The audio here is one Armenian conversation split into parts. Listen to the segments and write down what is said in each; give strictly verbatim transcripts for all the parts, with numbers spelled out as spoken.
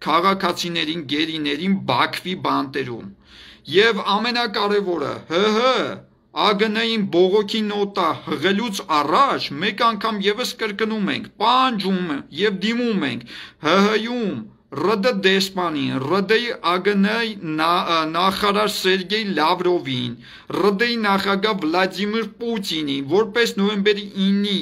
քաղաքացիներին, գերիներին Բաքվի բանտերում։ Եվ ամենակարևորը, ՀՀ ԱԳՆ-ին բողոքի նոտա հղելուց առաջ մեկ անգամ եւս կրկնում ենք, պահանջում եւ դիմում ենք ՀՀ-ում ՌԴ դեսպանին, ՌԴ-ի ԱԳՆ-ի նախարար Սերգեյ Լավրովին, ՌԴ-ի նախագահ Վլադիմիր Պուտինին, որպես նոյեմբերի ինի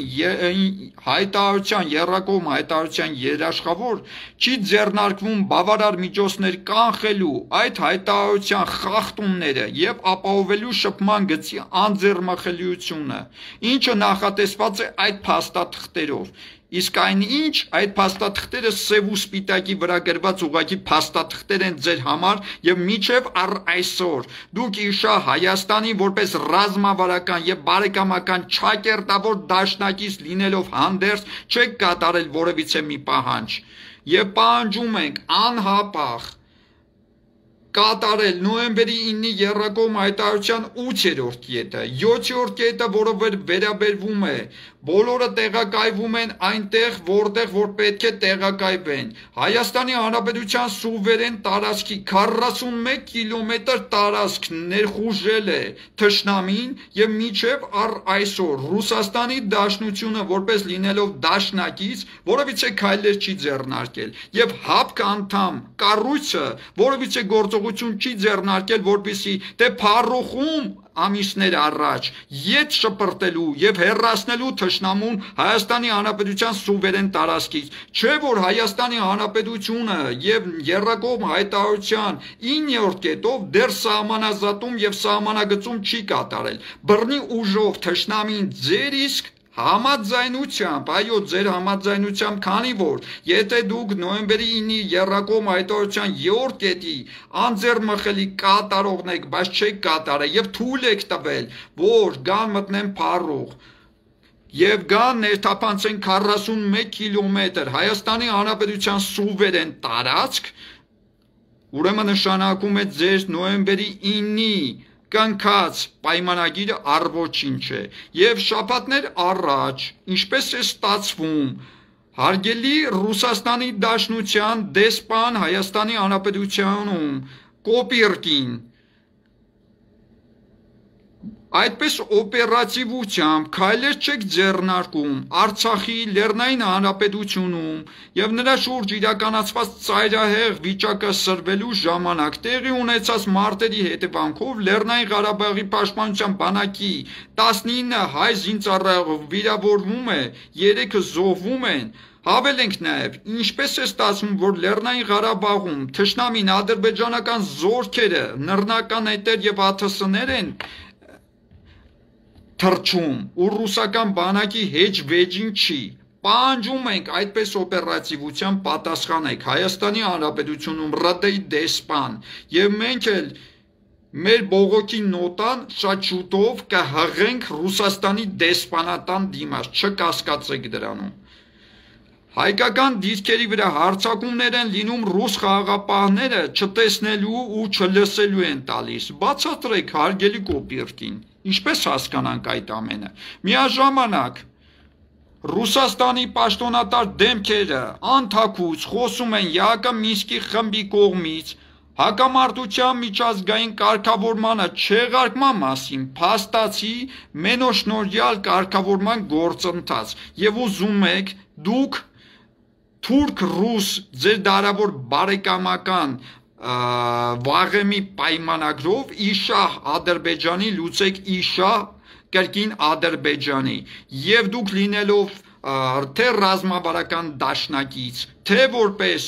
հայտարարության, եռակողմ հայտարարության երաշխավոր, չի ձեռնարկվում բավարար միջոցներ կանխելու այդ հայտարարության խախտումները եւ ապահովելու շփման գծի անձեռնմխելիությունը, ինչը նախատեսված է այդ փաստաթղթերով։ Իսկ այն ինչ այդ փաստաթղթերը սև ու սպիտակի վրա գրված ուղղակի փաստաթղթեր են ձեր համար եւ մինչեւ առ այսօր դուք իշա Հայաստանի որպես ռազմավարական եւ բարեկամական չակերտավոր դաշնակից լինելով հանդերձ չեք կատարել որևիցե մի պահանջ եւ պահանջում ենք անհապաղ կատարել նոյեմբերի ինի եռակողմ հայտարարության ութերորդ կետը, յոթերորդ կետը, որը վերաբերվում է բոլորը տեղակայվում են այնտեղ, որտեղ որ պետք է տեղակայվեն։ Հայաստանի Հանրապետության սուվերեն տարածքի քառասունմեկ կիլոմետր տարածք ներխուժել է թշնամին եւ մինչեւ առ այսօր Ռուսաստանի Դաշնությունը որպես լինելով դաշնակից որովիցե քայլեր չի ձեռնարկել եւ հապկ անդամ կառույցը որովիցե գործողություն չի ձեռնարկել որպեսի դե փառուխում ամիսներ առաջ ետ շպրտելու եւ հեռացնելու թշնամուն Հայաստանի Հանրապետության սուվերեն տարածքից, չէ որ Հայաստանի Հանրապետությունը եւ եռակողմ հայտարարության իններորդ կետով դեռ սահմանազատում եւ սահմանագծում չի կատարել։ Բռնի ուժով թշնամին ձեր իսկ համաձայնությամբ, այո, ձեր համաձայնությամբ, քանի որ եթե դուք նոյեմբերի ինի եռակողմ հայտարարության երրորդ կետի անձեռնմխելի կատարողն եք, բայց չեք կատարել եւ թույլ եք տվել, որ գան մտնեն փառուղ եւ գան ներթափանցեն քառասունմեկ կիլոմետր Հայաստանի Հանրապետության սուվերեն տարածք, ուրեմն նշանակում է ձեր նոյեմբերի ինի կնքած պայմանագիրը առոչինչ է եւ շաբաթներ առաջ ինչպես է ստացվում հարգելի Ռուսաստանի Դաշնության դեսպան Հայաստանի Հանրապետությունում Կոպիրկին այդպես օպերատիվությամբ քայլեր չեք ձեռնարկում Արցախի Լեռնային Հանրապետությունում եւ նրա շուրջ իրականացված ծայրահեղ վիճակը սրվելու ժամանակ տեղի ունեցած մարտերի հետևանքով Լեռնային Ղարաբաղի պաշտպանության բանակի տասնինը հայ զինծառայող վիրավորվում է, երեքը զոհվում են։ Հավելենք նաև, ինչպես է ստացվում, որ Լեռնային Ղարաբաղում թշնամին ադրբեջանական զորքերը, նռնական էտեր եւ ԱԹՍ-ներ են թռչում ու ռուսական բանակի հեջ վեճին չի։ Պահանջում ենք այդպես օպերատիվության պատասխանեք Հայաստանի Հանրապետությունում ՌԴ-ի դեսպան եւ մենք էլ մեր բողոքի նոտան շատ շուտով կհղենք Ռուսաստանի դեսպանատան դիմաց, չկասկածեք դրանում։ Հայկական դիրքերի վրա հարձակումներ են լինում ռուս խաղաղապահները չտեսնելու ու չլսելու են տալիս։ Բացատրեք հարգելի Կոպիրկին, ինչպես հասկանանք այդ ամենը։ Միաժամանակ Ռուսաստանի պաշտոնատար դեմքերը անթաքուց խոսում են ԵԱՀԿ-Մինսկի խմբի կողմից հակամարտության միջազգային կարգավորմանը չեղարկման մասին փաստացի մենոշնորհյալ կարգավորման գործընթաց եւ ուզում եք դուք թուրք-ռուս ձեր դարավոր բարեկամական վաղեմի պայմանագրով իշահ Ադրբեջանի լուծեք իշահ կրկին Ադրբեջանի եւ դուք լինելով թե ռազմավարական դաշնակից, թե որպես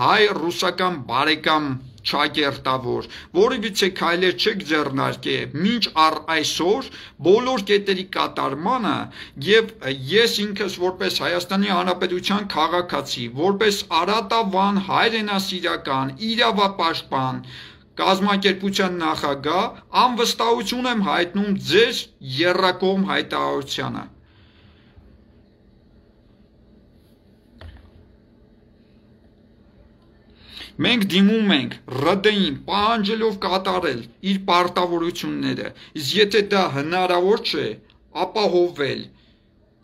հայ-ռուսական բարեկամ չակերտավոր, որևիցե քայլեր չեք ձեռնարկել մինչ առ այսօր բոլոր կետերի կատարմանը եւ ես ինքս որպես Հայաստանի Հանրապետության քաղաքացի, որպես արատավան հայրենասիրական, իրավապաշտպան կազմակերպության նախագահ անվստահություն եմ հայտնում ձեր եռակողմ հայտարարությանը։ Մենք դիմում ենք ՌԴ-ին պահանջելով կատարել իր պարտավորությունները, իսկ եթե դա հնարավոր չէ, ապահովել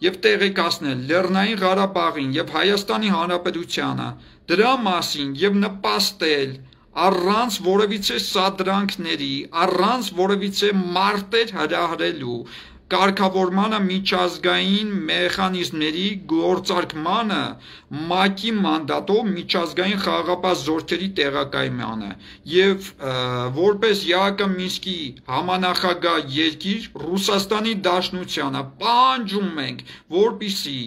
եւ տեղեկացնել Լեռնային Ղարաբաղին եւ Հայաստանի Հանրապետությանը, դրա մասին եւ նպաստել առանց որևիցե սադրանքների, առանց որևիցե մարտեր հրահրելու կարգավորմանը միջազգային մեխանիզմների գործարկմանը ՄԱԿ-ի մանդատով միջազգային խաղաղապահ զորքերի տեղակայմանը եւ որպես ԵԱՀԿ Մինսկի համանախագահ երկիր Ռուսաստանի Դաշնությանը պահանջում ենք, որպեսզի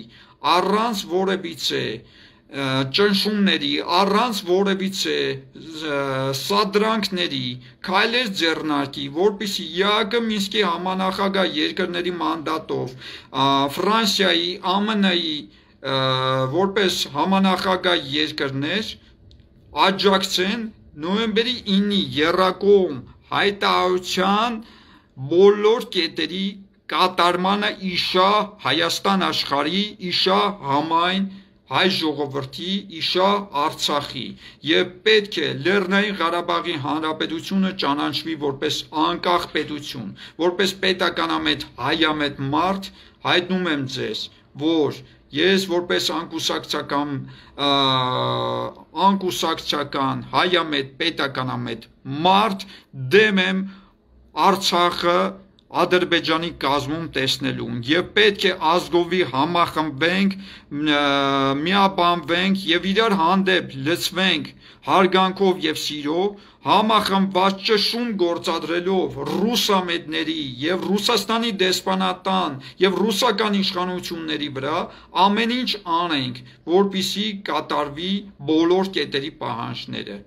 առանց որևիցե ճնշումների, առանց որևիցե սադրանքների քայլեր ձեռնարկի, որպեսզի ԵԱՀԿ Մինսկի համանախագահ երկրների մանդատով Ֆրանսիայի, ԱՄՆ-ի որպես համանախագահ երկրներ աջակցեն նոյեմբերի ինի եռակողմ հայտարարության բոլոր կետերի կատարմանը իշա Հայաստան աշխարհի, իշա համայն հայ ժողովրդի, իշա Արցախի եւ պետք է Լեռնային Ղարաբաղի Հանրապետությունը ճանաչվի որպես անկախ պետություն, որպես պետականամետ հայամետ մարդ հայտնում եմ ձեզ, որ ես որպես անկուսակցական անկուսակցական հայամետ պետականամետ մարդ դեմ եմ Արցախը Ադրբեջանի կազմում տեսնելուն եւ պետք է ազգովի համախմբենք, միաբանվենք եւ իրար հանդեպ լծվենք հարգանքով եւ սիրով, համախմբված ճշում գործադրելով ռուսամետների եւ Ռուսաստանի դեսպանատան եւ ռուսական իշխանությունների վրա ամեն ինչ անենք, որպեսզի կատարվի բոլոր կետերի պահանջները,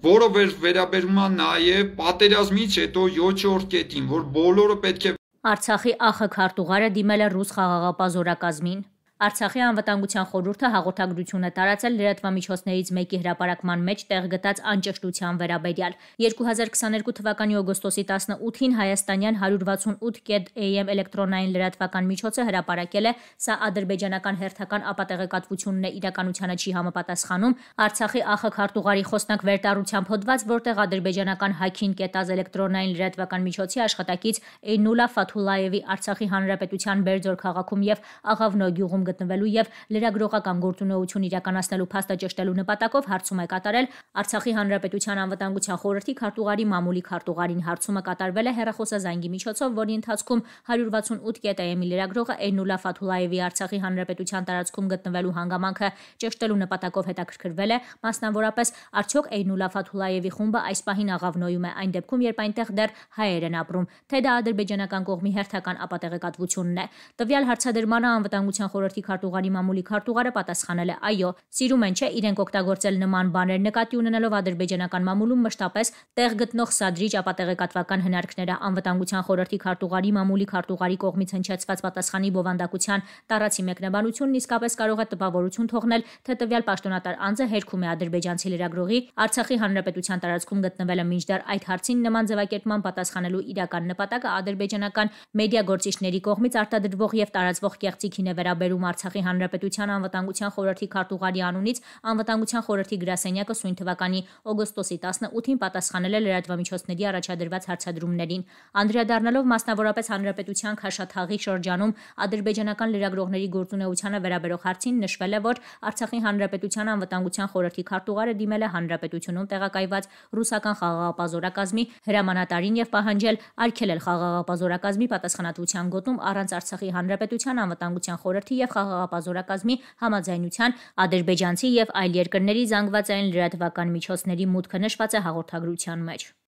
որը վերաբերում է նաև պատերազմից հետո յոթերորդ կետին, որ բոլորը պետք է Արցախի ԱԽ քարտուղարը դիմել է ռուս խաղաղապահ զորակազմին։ Արցախի անվտանգության խորհուրդը հաղորդագրություն է տարածել լրատվամիջոցներից մեկի հրապարակման մեջ տեղ գտած անճշտության վերաբերյալ։ երկու հազար քսաներկու թվականի օգոստոսի տասնութին հայաստանյան հարյուր վաթսունութ կետ A M էլեկտրոնային լրատվական միջոցը հրապարակել է, սա ադրբեջանական հերթական ապատեղեկատվությունն է, իրականությանը չի համապատասխանում, Արցախի ԱԽ քարտուղարի խոսնակ վերտառությամբ հոդված, որտեղ ադրբեջանական հաքին կետած էլեկտրոնային լրատվական միջոցի աշխատակից Էյնուլա Ֆաթուլաևի Արցախի հանրապետության Բերձոր քաղաքում եւ Աղավնո գյուղում գտնվելու եւ լրագրողական գործունեություն իրականացնելու փաստը ճշտելու նպատակով հարցում է կատարել Արցախի հանրապետության անվտանգության խորհրդի քարտուղարի մամուլի քարտուղարին։ Հարցումը կատարվել է հեռախոսազանգի միջոցով, որի ընթացքում հարյուր վաթսունութ կետ A M-ի լրագրողը Էյնուլա Ֆաթուլաևի Արցախի հանրապետության տարածքում գտնվելու հանգամանքը ճշտելու նպատակով հետաքրքրվել է, մասնավորապես արդյոք Էյնուլա Ֆաթուլաևի խումբը այս պահին Աղավնոյում է, այն դեպքում, երբ այնտեղ դեռ հայեր են ապրում, թե դա ադրբեջանական կողմի հերթական ապատեղեկատվությունն է։ Տվյալ հարցադրմանը անվտանգության խորհրդի քարտուղարի մամուլի քարտուղարը պատասխանել է. այո, սիրում են չէ իրենք օգտագործել նման բաներ, նկատի ունենալով ադրբեջանական մամուլում մշտապես տեղ գտնող սադրիչ ապատեղեկատվական հնարքները։ Անվտանգության խորհրդի քարտուղարի մամուլի քարտուղարի կողմից հնչեցված պատասխանի բովանդակության տարածի մեկնաբանությունն իսկապես կարող է տպավորություն թողնել, թե տվյալ պաշտոնատար անձը հերքում է ադրբեջանցի լրագրողի Արցախի հանրապետության տարածքում գտնվելը, մինչդեռ այդ հարցին նման ձևակերպման պատասխանելու իրական նպատակը ադրբեջանական մեդիա գործիչների կողմից արտադրվող եւ տարածվող կեղծիքին է վերաբերում Արցախի հանրապետության անվտանգության խորհրդի քարտուղարի անունից անվտանգության խորհրդի գրասենյակը սույն թվականի օգոստոսի տասնութին պատասխանել է լրատվամիջոցների առաջադրված հարցադրումներին, անդրադառնալով մասնավորապես հանրապետության Քաշաթաղի շրջանում ադրբեջանական լրագրողների գործունեությանը վերաբերող հարցին, նշվել է, որ Արցախի հանրապետության անվտանգության խորհրդի քարտուղարը դիմել է հանրապետությունում տեղակայված ռուսական խաղաղապահ զորակազմի հրամանատարին եւ պահանջել արգելել խաղաղապահ զորակազմի պատասխանատվության գոտում առանց Արցախի հանրապետության անվտանգության խորհրդի եւ խաղաղապահ զորակազմի համաձայնության ադրբեջանցի եւ այլ երկրների զանգվածային լրատվական միջոցների մուտքը նշված է հաղորդագրության մեջ։